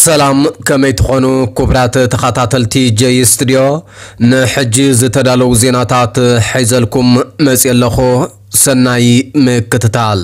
ሰላም፣ ከመይ ትኾኑ ክቡራት ተኸታተልቲ ጀይ ስቱድዮ? ንሕጂ ዝተዳለዉ ዜናታት ሒዘልኩም መፅየ ኣለኹ። ሰናይ ምክትታል።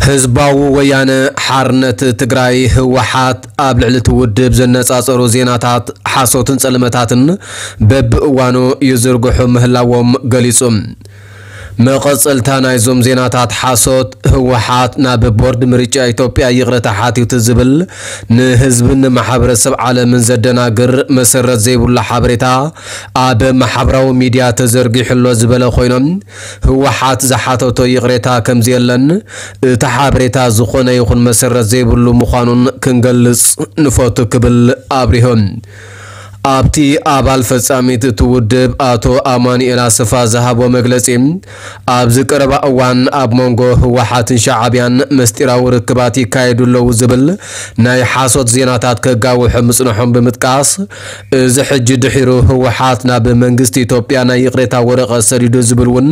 ህዝባዊ ወያነ ሓርነት ትግራይ ህወሓት ኣብ ልዕሊ እቲ ውድብ ዘነፃፀሩ ዜናታት ሓሶትን ፀለመታትን በብእዋኑ ይዝርግሑ ምህላዎም ገሊፁ። መቐፀልታ ናይዞም ዜናታት ሓሶት፣ ህወሓት ናብ ቦርድ ምርጫ ኢትዮጵያ ይቕረታ ሓቲቱ ዝብል ንህዝብን ንማሕበረሰብ ዓለምን ዘደናግር መሰረት ዘይብሉ ሓበሬታ ኣብ ማሕበራዊ ሚድያ ተዘርጊሑ ኣሎ ዝበለ ኮይኖም፣ ህወሓት ዝሓተቶ ይቕሬታ ከምዘየለን እቲ ሓበሬታ ዝኾነ ይኹን መሰረት ዘይብሉ ምዃኑን ክንገልጽ ንፈቱ ክብል ኣብሪሆም። ኣብቲ ኣባል ፈጻሚት እቲ ውድብ ኣቶ ኣማኑኤል ኣሰፋ ዝሃቦ መግለጺ፣ ኣብዚ ቀረባ እዋን ኣብ መንጎ ህወሓትን ሻዕብያን መስጢራዊ ርክባት ይካየዱ ኣለዉ ዝብል ናይ ሓሶት ዜናታት ከጋውሑ ምጽንሖም ብምጥቃስ፣ እዚ ሕጂ ድሒሩ ህወሓት ናብ መንግስቲ ኢትዮጵያ ናይ ይቕሬታ ወረቐት ሰዲዱ ዝብል እውን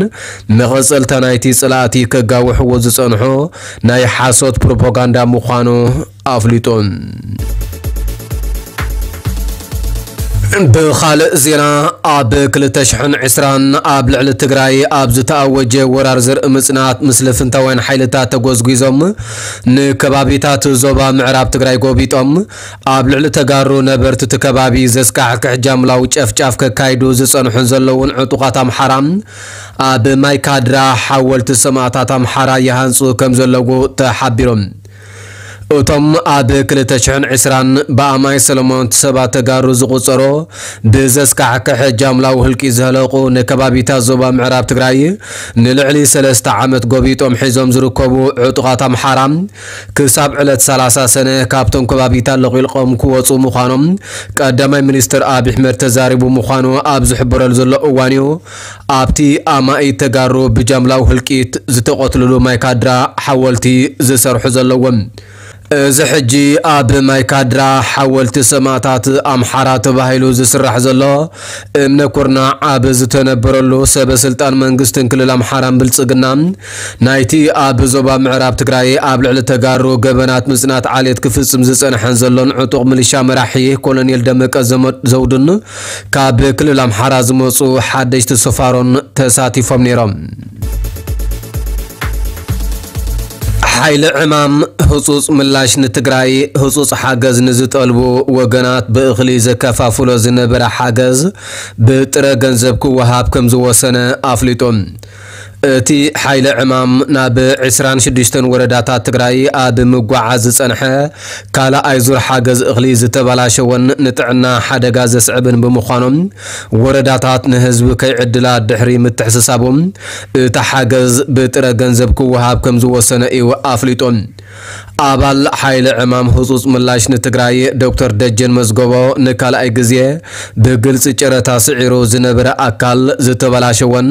መቐጸልታ ናይቲ ጽላእቲ ከጋውሕዎ ዝጸንሑ ናይ ሓሶት ፕሮፓጋንዳ ምዃኑ ኣፍሊጡ። ብኻልእ ዜና፣ ኣብ ክልተ ሽሕን ዕስራን ኣብ ልዕሊ ትግራይ ኣብ ዝተኣወጀ ወራር ዘርኢ ምጽናት ምስ ልፍንታውያን ሓይልታት ተጎዝጒዞም ንከባቢታት ዞባ ምዕራብ ትግራይ ጎቢጦም ኣብ ልዕሊ ተጋሩ ነበርቲ እቲ ከባቢ ዘስካሕክሕ ጃምላዊ ጨፍጫፍ ከካይዱ ዝጸንሑን ዘለውን ዕጡቓት ኣምሓራ ኣብ ማይካድራ ሓወልቲ ሰማእታት ኣምሓራ ይሃንጹ ከም ዘለዉ ተሓቢሮም። እቶም ኣብ ክልተ ሽሕን ዕስራን ብኣማይ ሰለሞን ሰባት ተጋሩ ዝቑጸሩ ብዘስካሕክሕ ጃምላዊ ህልቂ ዝህለቑ ንከባቢታት ዞባ ምዕራብ ትግራይ ንልዕሊ ሰለስተ ዓመት ጎቢጦም ሒዞም ዝርከቡ ዕጡቓት ኣምሓራ ክሳብ ዕለት ሰላሳ ሰነ ካብቶም ከባቢታት ለቒልቆም ክወፁ ምዃኖም ቀዳማይ ሚኒስትር ኣብይ ኣሕመድ ተዛሪቡ ምዃኑ ኣብ ዝሕበረሉ ዘሎ እዋን እዩ። ኣብቲ ኣማኢት ተጋሩ ብጃምላዊ ህልቂት ዝተቐትልሉ ማይካድራ ሓወልቲ ዝሰርሑ ዘለዎም። እዚ ሕጂ ኣብ ማይካድራ ሓወልቲ ሰማእታት ኣምሓራ ተባሂሉ ዝስራሕ ዘሎ እምነ ኩርናዕ ኣብ ዝተነበረሉ ሰበ ስልጣን መንግስትን ክልል ኣምሓራን ብልጽግና ናይቲ ኣብ ዞባ ምዕራብ ትግራይ ኣብ ልዕሊ ተጋሩ ገበናት ምጽናት ዓሌት ክፍጽም ዝጸንሐን ዘሎን ዕጡቕ ሚሊሻ መራሒ ኮሎኔል ደመቀ ዘመ-፣ ዘውዱን ካብ ክልል ኣምሓራ ዝመጹ ሓደሽቲ ሰፋሮን ተሳቲፎም ነይሮም። ሓይሊ ዕማም ህጹጽ ምላሽ ንትግራይ ህጹጽ ሓገዝ ንዝጠልቡ ወገናት ብእኽሊ ዘከፋፍሎ ዝነበረ ሓገዝ ብጥረ ገንዘብ ክወሃብ ከም ዝወሰነ ኣፍሊጡ። እቲ ሓይሊ ዕማም ናብ ዕስራን ሽዱሽተን ወረዳታት ትግራይ ኣብ ምጓዓዝ ዝጸንሐ ካልኣይ ዙር ሓገዝ እኽሊ ዝተበላሸወን ንጥዕና ሓደጋ ዘስዕብን ብምዃኖም፣ ወረዳታት ንህዝቢ ከይዕድላ ድሕሪ ምትሕስሳቦም፣ እቲ ሓገዝ ብጥረ ገንዘብ ክወሃብ ከም ዝወሰነ እዩ ኣፍሊጡ። ኣባል ሓይሊ ዕማም ህጹጽ ምላሽ ንትግራይ ዶክተር ደጀን መዝገቦ ንካልኣይ ግዜ ብግልጺ ጨረታ ስዒሩ ዝነበረ ኣካል ዝተበላሸወን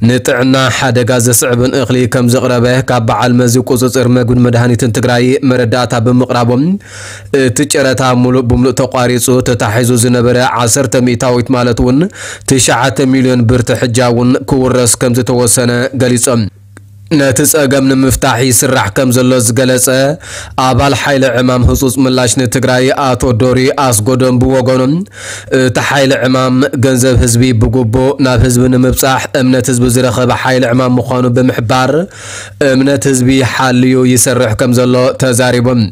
ንጥዕና ሓደጋ ዘስዕብን እኽሊ ከም ዘቕረበ ካብ በዓል መዚ ቁጽጽር መግብን መድሃኒትን ትግራይ መረዳእታ ብምቕራቦም፣ እቲ ጨረታ ሙሉእ ብምሉእ ተቋሪጹ ተታሒዙ ዝነበረ ዓሰርተ ሚእታዊት ማለት እውን ትሽዓተ ሚልዮን ብር ትሕጃ እውን ክውረስ ከም ዝተወሰነ ገሊጾም። ነቲ ጸገም ንምፍታሕ ይስራሕ ከም ዘሎ ዝገለጸ ኣባል ሓይሊ ዕማም ህጹጽ ምላሽ ንትግራይ ኣቶ ዶሪ ኣስጎዶም ብወገኖም፣ እቲ ሓይሊ ዕማም ገንዘብ ህዝቢ ብግቡእ ናብ ህዝቢ ንምብጻሕ እምነት ህዝቢ ዝረኸበ ሓይሊ ዕማም ምዃኑ ብምሕባር፣ እምነት ህዝቢ ሓልዩ ይሰርሕ ከም ዘሎ ተዛሪቦም።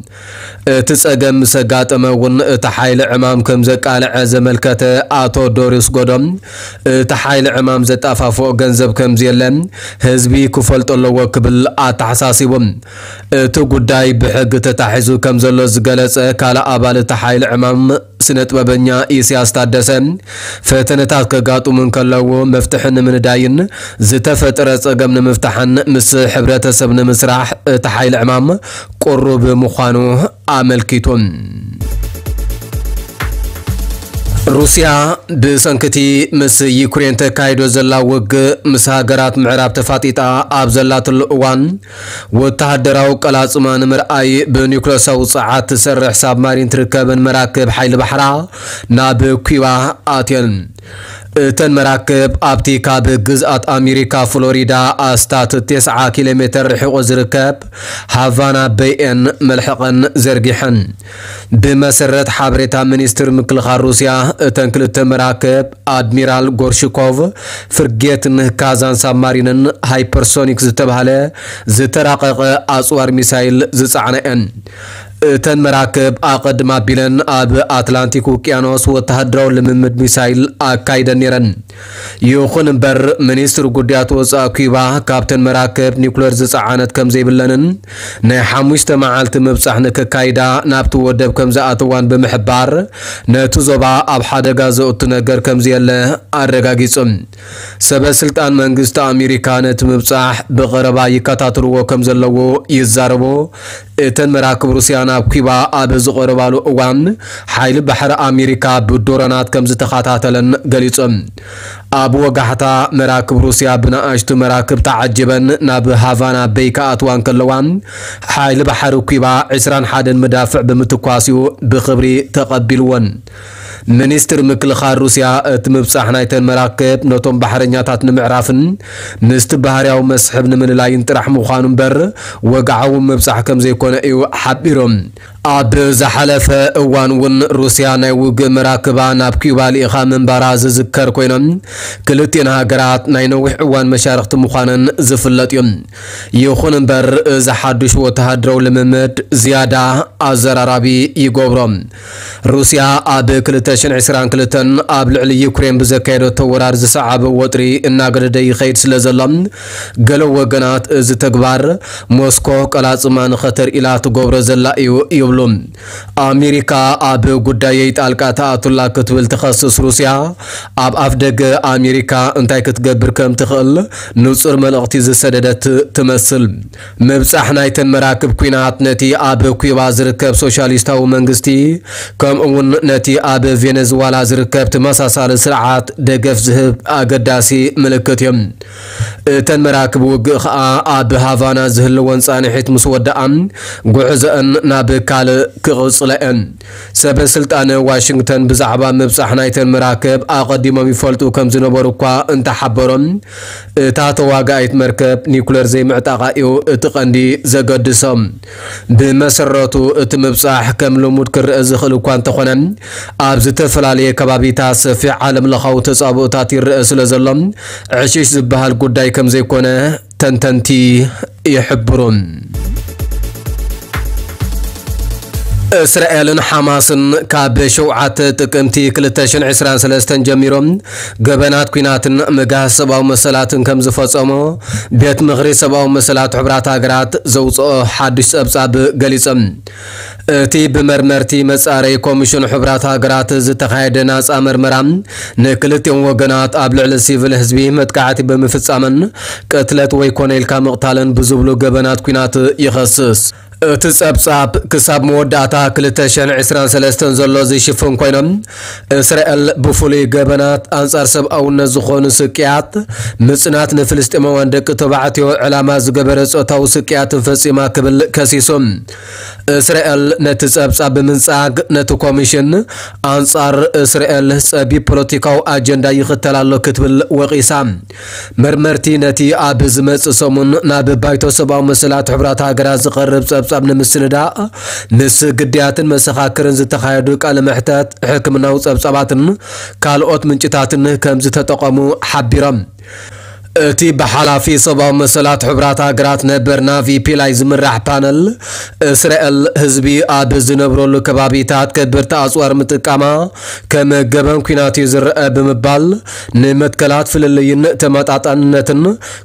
እቲ ጸገም ምስ ኣጋጠመ እውን እቲ ሓይሊ ዕማም ከም ዘቃልዐ ዘመልከተ ኣቶ ዶሪ ኣስጎዶም፣ እቲ ሓይሊ ዕማም ዘጣፋፍኦ ገንዘብ ከም ዘየለ ህዝቢ ክፈልጦ ኣለዎ ክብል ኣተሓሳሲቡ። እቲ ጉዳይ ብሕጊ ተታሒዙ ከም ዘሎ ዝገለጸ ካልእ ኣባል እቲ ሓይሊ ዕማም ስነ ጥበበኛ ኢሳያስ ታደሰ፣ ፈተነታት ከጋጥሙ እንከለዉ መፍትሒ ንምንዳይን ዝተፈጠረ ጸገም ንምፍታሕን ምስ ሕብረተሰብ ንምስራሕ እቲ ሓይሊ ዕማም ቅሩብ ምዃኑ ኣመልኪቱ። ሩስያ ብሰንክቲ ምስ ዩክሬን ተካይዶ ዘላ ውግእ ምስ ሃገራት ምዕራብ ተፋጢጣ ኣብ ዘላትሉ እዋን፣ ወተሃደራዊ ቀላጽማ ንምርኣይ ብኒውክለሳዊ ጸዓት ትሰርሕ ሳብማሪን ትርከብን መራክብ ሓይሊ ባሕራ ናብ ኪባ ኣትየን። እተን መራክብ ኣብቲ ካብ ግዝኣት ኣሜሪካ ፍሎሪዳ ኣስታት ተስዓ ኪሎ ሜተር ርሒቑ ዝርከብ ሃቫና በይኤን መልሕቐን ዘርጊሐን። ብመሰረት ሓበሬታ ሚኒስትር ምክልኻል ሩስያ፣ እተን ክልተ መራክብ ኣድሚራል ጎርሽኮቭ ፍርጌትን ካዛን ሳብማሪንን ሃይፐርሶኒክ ዝተባህለ ዝተራቐቐ ኣጽዋር ሚሳይል ዝጸዓና እየን። እተን መራክብ ኣቐድም ኣቢለን ኣብ ኣትላንቲክ ውቅያኖስ ወተሃደራዊ ልምምድ ሚሳይል ኣካይደን ነይረን። ይኹን እምበር፣ ሚኒስትሪ ጉዳያት ወጻኢ ኩባ ካብተን መራክብ ኒኩለር ዝጸዓነት ከም ዘይብለንን ናይ ሓሙሽተ መዓልቲ ምብጻሕ ንክካይዳ ናብቲ ወደብ ከም ዝኣተዋን ብምሕባር፣ ነቲ ዞባ ኣብ ሓደጋ ዘእቱ ነገር ከም ዘየለ ኣረጋጊጹ። ሰበ ስልጣን መንግስቲ ኣሜሪካ ነቲ ምብጻሕ ብቐረባ ይከታተልዎ ከም ዘለዉ ይዛረቡ። እተን መራክብ ሩስያ ናብ ኩባ ኣብ ዝቐረባሉ እዋን፣ ሓይሊ ባሕሪ ኣሜሪካ ብድሮናት ከም ዝተኸታተለን ገሊጹ። ኣብ ወጋሕታ፣ መራክብ ሩስያ ብንኣሽቱ መራክብ ተዓጂበን ናብ ሃቫና በይ ክኣትዋ እንከለዋ፣ ሓይሊ ባሕሪ ኩባ ዕስራን ሓደን መዳፍዕ ብምትኳስ እዩ ብኽብሪ ተቐቢልወን። ሚኒስትር ምክልኻል ሩስያ፣ እቲ ምብጻሕ ናይተን መራክብ ነቶም ባሕረኛታት ንምዕራፍን ምስቲ ባህርያዊ መስሕብ ንምልላይን ጥራሕ ምዃኑ እምበር፣ ወግዓዊ ምብጻሕ ከም ዘይኮነ እዩ ሓቢሩ። ኣብ ዝሓለፈ እዋን እውን ሩስያ ናይ ውግእ መራክባ ናብ ኪዩባ ልኢኻ ምንባራ ዝዝከር ኮይኖም፣ ክልቲኤን ሃገራት ናይ ነዊሕ እዋን መሻርኽቲ ምዃነን ዝፍለጥ እዩ። ይኹን እምበር፣ እዚ ሓድሽ ወተሃደራዊ ልምምድ ዝያዳ ኣዘራራቢ ይገብሮ። ሩስያ ኣብ ክልተ ሽሕን ዕስራን ክልተን ኣብ ልዕሊ ዩክሬን ብዘካየደቶ ወራር ዝሰዓበ ወጥሪ እናገደደ ይኸይድ ስለ ዘሎ፣ ገለ ወገናት እዚ ተግባር ሞስኮ ቀላጽማ ንኸተርእላ ትገብሮ ዘላ እዩ ይብሉ። ኣሜሪካ ኣብ ጉዳየይ ጣልቃ ትኣቱላ ክትብል ትኸስስ ሩስያ፣ ኣብ ኣፍደገ ኣሜሪካ እንታይ ክትገብር ከም ትኽእል ንጹር መልእኽቲ ዝሰደደት ትመስል። ምብጻሕ ናይተን መራክብ ኲናት ነቲ ኣብ ኩባ ዝርከብ ሶሻሊስታዊ መንግስቲ፣ ከምኡ እውን ነቲ ኣብ ቬነዝዋላ ዝርከብ ተመሳሳሊ ስርዓት ደገፍ ዝህብ ኣገዳሲ ምልክት እዩ። እተን መራክብ ውግእ ኸኣ ኣብ ሃቫና ዝህልወን ጻንሒት ምስ ወደኣ፣ ጉዕዞአን ናብ ካልእ ክቕጽላ እየን። ሰበ ስልጣን ዋሽንግተን ብዛዕባ ምብጻሕ ናይተን መራክብ ኣቐዲሞም ይፈልጡ ከም ዝነበሩ እኳ እንተሓበሮም፣ እታ ተዋጋኢት መርከብ ኒኩለር ዘይምዕጣቓ እዩ እቲ ቀንዲ ዘገድሶም። ብመሰረቱ እቲ ምብጻሕ ከም ልሙድ ክረአ ዝኽእል እኳ እንተኾነ፣ ኣብ ዝተፈላለየ ከባቢታት ሰፊሕ ዓለም ለኻዊ ተጻብኦታት ይረአ ስለ ዘሎ፣ ዕሽሽ ዝበሃል ጉዳይ ከም ዘይኮነ ተንተንቲ ይሕብሩ። እስራኤልን ሓማስን ካብ ሸውዓተ ጥቅምቲ ክልተ ሽሕን ዕስራን ሰለስተን ጀሚሮም ገበናት ኲናትን ምግሃስ ሰብኣዊ መሰላትን ከም ዝፈጸሙ ቤት ምኽሪ ሰብኣዊ መሰላት ሕቡራት ሃገራት ዘውጽኦ ሓድሽ ጸብጻብ ገሊጾም። እቲ ብመርመርቲ መጻረይ ኮሚሽን ሕቡራት ሃገራት ዝተኻየደ ናጻ መርመራ፣ ንክልቲኦም ወገናት ኣብ ልዕሊ ሲቪል ህዝቢ መጥቃዕቲ ብምፍጻምን ቅትለት ወይ ኮነ ኢልካ ምቕታልን ብዝብሉ ገበናት ኲናት ይኸስስ። እቲ ጸብጻብ ክሳብ መወዳእታ ክልተ ሽሕን ዕስራን ሰለስተን ዘሎ ዝሽፍን ኮይኖም፣ እስራኤል ብፍሉይ ገበናት ኣንጻር ሰብኣውነት ዝኾኑ ስቅያት፣ ምጽናት ንፍልስጤማውያን ደቂ ተባዕትዮ ዕላማ ዝገበረ ጾታዊ ስቅያትን ፈጺማ ክብል ከሲሱ። እስራኤል ነቲ ጸብጻብ ብምንጻግ፣ ነቲ ኮሚሽን ኣንጻር እስራኤል ጸቢብ ፖለቲካዊ ኣጀንዳ ይኽተል ኣሎ ክትብል ወቒሳ። መርመርቲ ነቲ ኣብ ዝመጽእ ሰሙን ናብ ባይቶ ሰብኣዊ መሰላት ሕቡራት ሃገራት ዝቐርብ ጸብጻብ ንምስንዳእ፣ ምስ ግዳያትን መሰኻክርን ዝተኻየዱ ቃለ መሕተት፣ ሕክምናዊ ጸብጻባትን ካልኦት ምንጭታትን ከም ዝተጠቐሙ ሓቢሮም። እቲ ብሓላፊ ሰብኣዊ መሰላት ሕቡራት ሃገራት ነበር ናቪ ፒላይ ዝምራሕ ፓነል፣ እስራኤል ህዝቢ ኣብ ዝነብረሉ ከባቢታት ከበድቲ ኣጽዋር ምጥቃማ ከም ገበን ኲናት እዩ ዝረአ ብምባል፣ ንመትከላት ፍልልይን ተመጣጣንነትን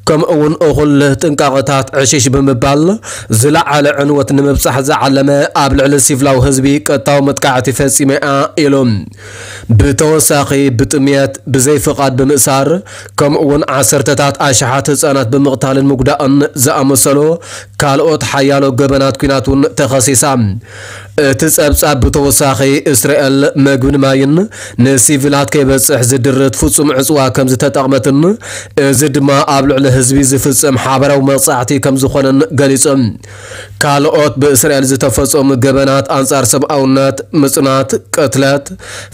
ከምኡ እውን እኹል ጥንቃቐታት ዕሽሽ ብምባል፣ ዝለዓለ ዕንወት ንምብጻሕ ዝዓለመ ኣብ ልዕሊ ሲቪላዊ ህዝቢ ቀጥታዊ መጥቃዕቲ ፈጺመ እያ ኢሉ። ብተወሳኺ፣ ብጥምየት፣ ብዘይፍቓድ ብምእሳር፣ ከምኡ እውን ዓሰርተ ታት ኣሽሓት ህጻናት ብምቕታልን ምጉዳእን ዝኣመሰሉ ካልኦት ሓያሎ ገበናት ኲናት እውን ተኸሲሳ። እቲ ጸብጻብ ብተወሳኺ፣ እስራኤል መግብን ማይን ንሲቪላት ከይበጽሕ ዝድርት ፍጹም ዕጽዋ ከም ዝተጠቕመትን፣ እዚ ድማ ኣብ ልዕሊ ህዝቢ ዝፍጸም ሓበራዊ መቕጻዕቲ ከም ዝኾነን ገሊጹ። ካልኦት ብእስራኤል ዝተፈጸሙ ገበናት ኣንጻር ሰብኣውነት፣ ምጽናት፣ ቅትለት፣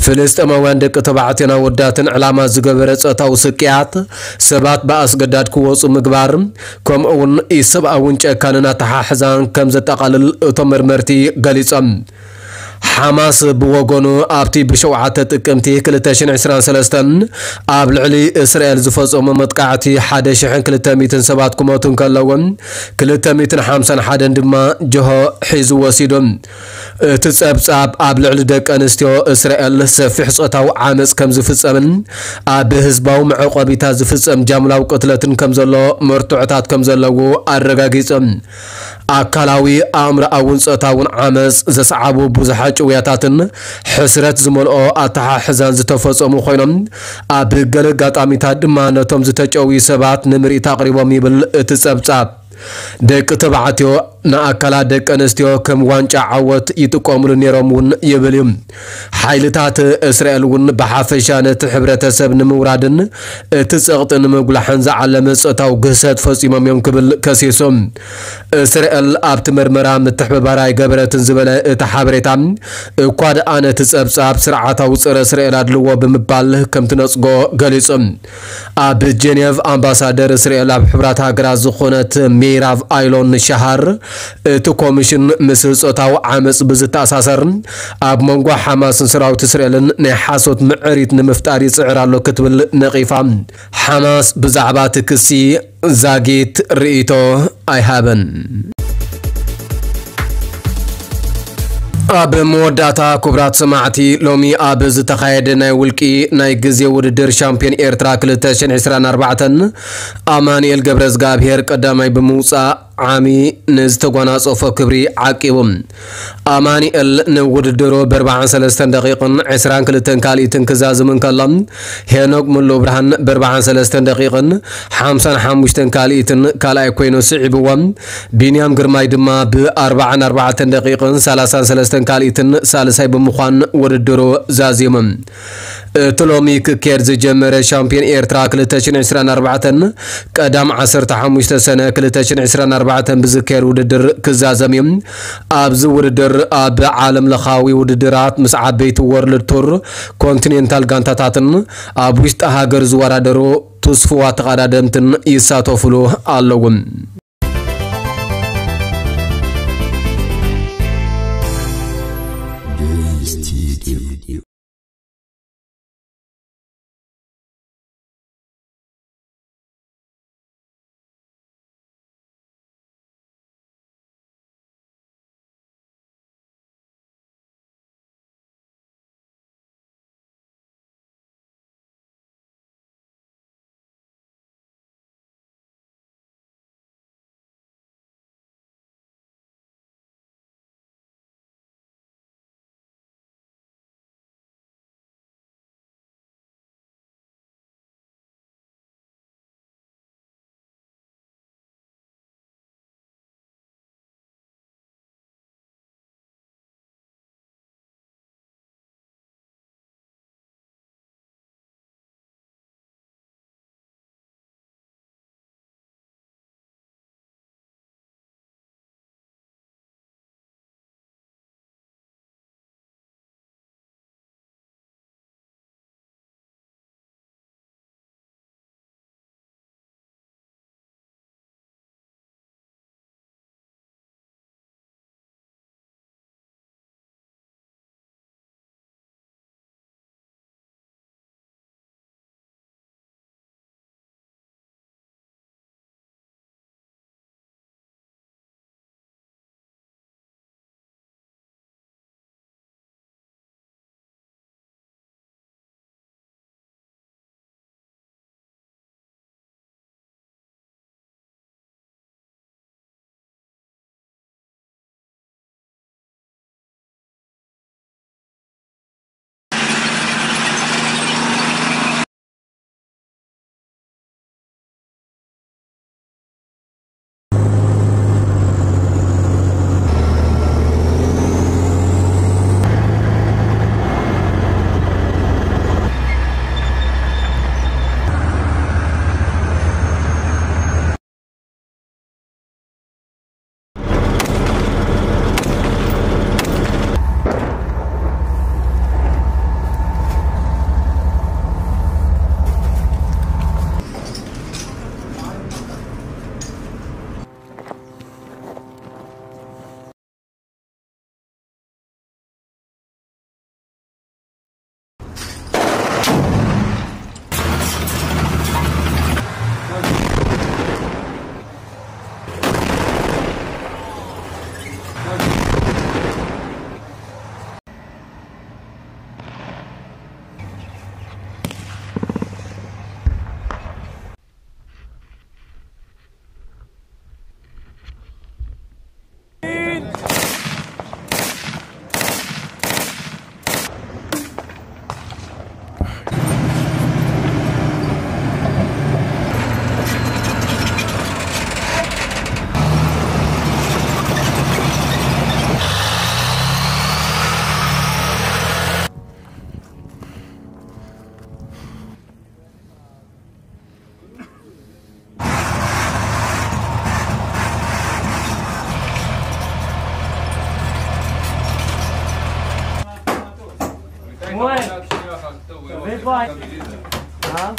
ፍልስጤማውያን ደቂ ተባዕትዮን ኣወዳትን ዕላማ ዝገበረ ጾታዊ ስቅያት፣ ሰባት ብኣስገዳድ ክወጹ ምግባር፣ ከምኡ'ውን ኢሰብኣውን ጨካንን ኣተሓሕዛን ከም ዘጠቓልል እቶም መርመርቲ ገሊጾም። ሓማስ ብወገኑ፣ ኣብቲ ብሸውዓተ ጥቅምቲ ክልተ ሽሕን ዕስራን ሰለስተን ኣብ ልዕሊ እስራኤል ዝፈጸሞ መጥቃዕቲ ሓደ ሽሕን ክልተ ሚእትን ሰባት ክሞቱ እንከለዉ፣ ክልተ ሚእትን ሓምሳን ሓደን ድማ ጀሆ ሒዙ ወሲዱ። እቲ ጸብጻብ ኣብ ልዕሊ ደቂ ኣንስትዮ እስራኤል ሰፊሕ ጾታዊ ዓመጽ ከም ዝፍጸምን ኣብ ህዝባዊ መዕቆቢታት ዝፍጸም ጃምላዊ ቅትለትን ከም ዘሎ መርትዖታት ከም ዘለዉ ኣረጋጊጹ። ኣካላዊ፣ ኣእምሮኣውን ጾታውን ዓመጽ ዘስዓቡ ብዙሓት ጭውያታትን ሕስረት ዝመልኦ ኣተሓሕዛን ዝተፈጸሙ ኮይኖም፣ ኣብ ገለ ኣጋጣሚታት ድማ ነቶም ዝተጨውዩ ሰባት ንምርኢት ኣቕሪቦም ይብል እቲ ጸብጻብ። ደቂ ተባዕትዮ ንኣካላት ደቂ ኣንስትዮ ከም ዋንጫ ዓወት ይጥቀሙሉ ነይሮም እውን ይብል እዩ። ሓይልታት እስራኤል እውን ብሓፈሻ ነቲ ሕብረተሰብ ንምውራድን እቲ ጸቕጢ ንምጉላሕን ዝዓለመ ጾታዊ ግህሰት ፈጺሞም እዮም ክብል ከሲሱ። እስራኤል ኣብቲ መርመራ ምትሕብባር ኣይገበረትን ዝበለ እቲ ሓበሬታ፣ እኳ ደኣ ነቲ ጸብጻብ ስርዓታዊ ጸረ እስራኤል ኣድልዎ ብምባል ከም ትነጽጎ ገሊጹ። ኣብ ጀኔቭ ኣምባሳደር እስራኤል ኣብ ሕቡራት ሃገራት ዝኾነት ሜራቭ ኣይሎን ሻሃር፣ እቲ ኮሚሽን ምስ ጾታዊ ዓመጽ ብዝተኣሳሰር ኣብ መንጎ ሓማስን ሰራዊት እስራኤልን ናይ ሓሶት ምዕሪት ንምፍጣር ይጽዕር ኣሎ ክትብል ነቒፋ። ሓማስ ብዛዕባ እቲ ክሲ ዛጊት ርእይቶ ኣይሃበን። ኣብ መወዳእታ፣ ክቡራት ሰማዕቲ፣ ሎሚ ኣብ ዝተኻየደ ናይ ውልቂ ናይ ግዜ ውድድር ሻምፒዮን ኤርትራ ክልተ ሽሕን ዕስራን ኣርባዕተን፣ ኣማኑኤል ገብረዝጋብሄር ቀዳማይ ብምውጻእ ዓሚ ንዝተጓናጸፎ ክብሪ ዓቂቡ። ኣማኑኤል ንውድድሩ ብ ኣርባዓን ሰለስተን ደቂቕን ዕስራን ክልተን ካልኢትን ክዛዝም እንከሎ፣ ሄኖክ ሙሉብርሃን ብ ኣርባዓን ሰለስተን ደቂቕን ሓምሳን ሓሙሽተን ካልኢትን ካልኣይ ኮይኑ ስዒብዎ። ቢንያም ግርማይ ድማ ብ ኣርባዓን ኣርባዕተን ደቂቕን ሰላሳን ሰለስተን ካልኢትን ሳልሳይ ብምዃን ውድድሩ ዛዚሙ። እቲ ሎሚ ክካየድ ዝጀመረ ሻምፒዮን ኤርትራ ክልተ ሽሕን ዕስራን ኣርባዕተን፣ ቀዳም ዓሰርተ ሓሙሽተ ሰነ ክልተ ሽሕን ዕስራን ኣርባዕተን ብዝካየድ ውድድር ክዛዘም እዩ። ኣብዚ ውድድር ኣብ ዓለም ለኻዊ ውድድራት ምስ ዓበይቲ ወርልድ ቱር ኮንቲኔንታል ጋንታታትን ኣብ ውሽጢ ሃገር ዝወዳደሩ ትስፉዋት ተቐዳደምትን ይሳተፉሉ ኣለዉ። ها؟